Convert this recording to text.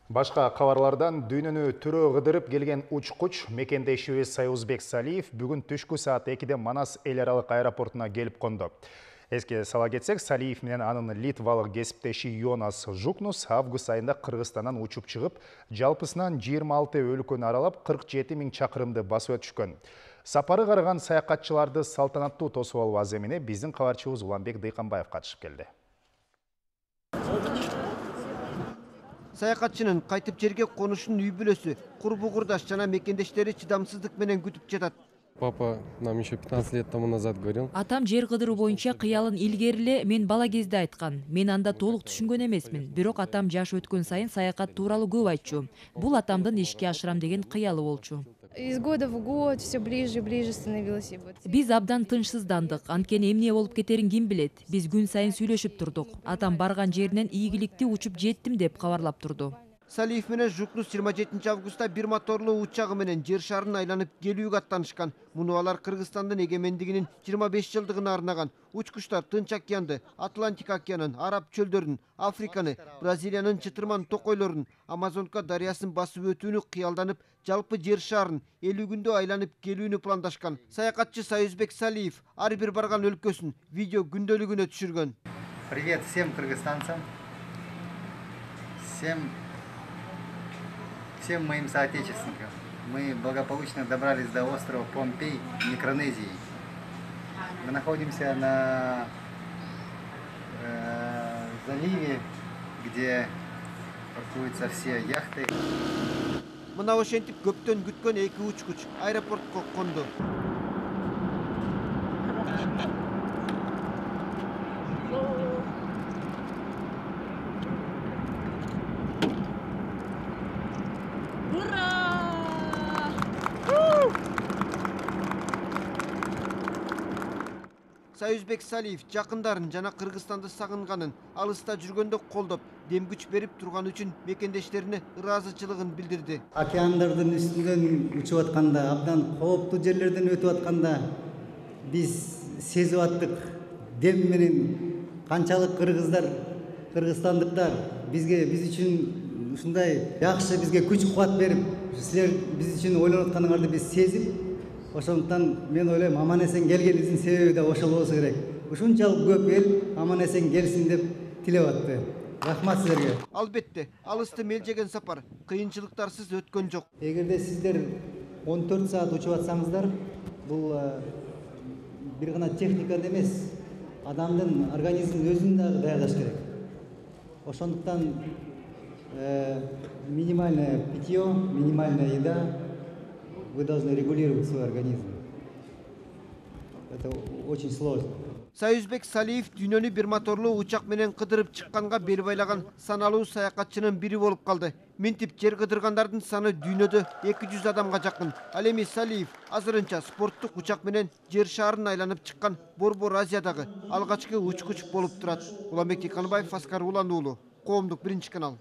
Башка кабарлардан дүйнөнү түрө кыдырып келген учкуч мекендешибиз Союзбек Салиев бүгүн түшкү саат 2-де Манас эл аралык аэропортуна келип конду. Эске сала кетсек, Салиев менен анын литвалык кесиптеши Йонас Жукнус август айында Кыргызстандан учуп чыгып, жалпысынан 26 өлкөнү аралап 47 000 чакырымды басып өтүшкөн. Сапары карыган саякатчыларды салтанаттуу тосуп алуу аземине биздин кабарчыбыз Уланбек Дыйканбаев катышып келди. Саякатчынын кайтып жерге конушунун үй бүлөсү, курбу курдаш жана мекендештери чыдамсыздык менен күтүп жатат. Папа нам еще 15 лет тому назад говорил. Атам жер кыдыруу боюнча кыялын илгериле мен бала кезде айткан. Мен анда толук түшүнгөн эмесмин. Бирок атам жаш өткөн сайын саякат тууралуу көп айтчу. Бул атамдын ишке ашырам деген кыялы болчу. Из года в год все ближе и ближе становилось. Биз абдан тынчсыздандык. Анткени эмне болуп кетерин ким билет. Биз күн сайын сүйлөшүп турдук. Атам барган жеринен ийгиликтүү учуп жеттим деп кабарлап турду. Салиев менен Жукнус 27 августта бир моторлуу учагы менен жер шарын айланып келүүгө аттанышкан. Муну алар Кыргызстандын эгемендигинин 25 жылдыгына арнаган. Учкучтар Тынч океанды, Атлантика океанын, Араб чөлдөрүн, Африканы, Бразилиянын чытырман токойлорун, Амазонка дарыясын басып өтүүнү кыялданып, жалпы жер шарын 50 күндө айланып келүүнү пландашкан. Саякатчы Союзбек Салиев ар бир барган өлкөсүн видео күндөлүгүнө түшүргөн. Привет всем кыргызстанцам, всем моим соотечественникам. Мы благополучно добрались до острова Помпей, Микронезии. Мы находимся на заливе, где паркуются все яхты. Мына ошентип көптөн күткөн эки учкуч аэропортко конду. Союзбек Салиев жакындарын жана Кыргызстанды сагынганын, алыста жүргөндө колдоп, дем күч берип турган үчүн мекендештерине ыраазычылыгын билдирди. Океандардын үстүнөн учуп атканда, абдан кооптуу жерлерден өтүп атканда биз сезип аттык дем менен канчалык кыргыздар, кыргызстандыктар биз үчүн ушундай жакшы бизге күч кубат берип, силер биз үчүн ойлонуп атканыңарды биз сезип, ошондуктан мен ойлойм аман эсен келгенибиздин себеби да ошол болсо керек. Ушунчалык көп эл аман эсен келсин деп тилеп атты. Рахмат силерге. Албетте, алысты мелжеген сапар кыйынчылыктарсыз өткөн жок. Эгерде сиздер 14 саат учуп атсаңыздар, бул бир гана техниканы эмес, адамдын организмин өзүн дагы даярдаш керек. Ошондуктан минимальное питье, минимальная еда, вы должны регулировать свой организм. Это очень сложно. Союзбек Салиев дүйнөнү бир моторлуу учак менен кыдырып чыкканга бел байлаган саналуу саякатчынын бири болуп калды. Минтип жер кыдыргандардын саны дүйнөдө 200 адамга жакын. Ал эми Салиев азырынча спорттук учак менен жер шарын айланып чыккан Борбор Азиядагы алгачкы учкуч болуп турат. Уланбек Дыйканбаев, Аскар Улан уулу, Коомдук 1 канал.